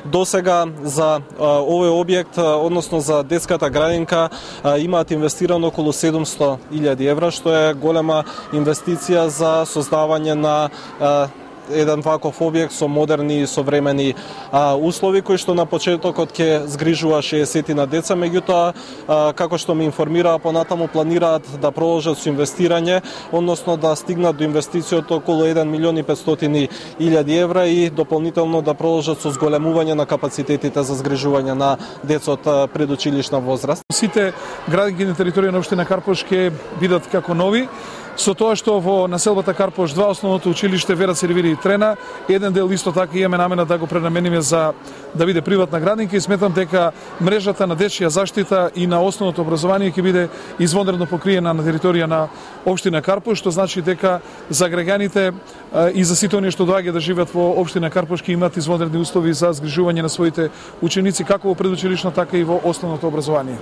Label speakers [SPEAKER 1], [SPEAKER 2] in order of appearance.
[SPEAKER 1] Досега за овој објект, односно за детската градинка, имаат инвестирано околу 700.000 евра, што е голема инвестиција за создавање на еден ваков објект со модерни и современи услови, кои што на почетокот ќе згрижува 60 на деца, меѓутоа, како што ме информираа, понатаму планираат да продолжат со инвестирање, односно да стигнат до инвестицијата околу 1.500.000 евра и дополнително да продолжат со зголемување на капацитетите за згрижување на деца од предучилишна возраст.
[SPEAKER 2] Сите градинки на територија на општина Карпош ќе бидат како нови, со тоа што во населбата Карпош 2 основното училиште Вера Сервири и Трена, еден дел исто така имаме намена да го пренамениме за да биде приватна градинка и сметам дека мрежата на дечја заштита и на основното образование ќе биде извонредно покриена на територија на општина Карпош, што значи дека за граѓаните и за сите оние што доаѓаат да живеат во општина Карпош ќе имаат извонредни услови за згрижување на своите ученици како во предучилишно, така и во основното образование.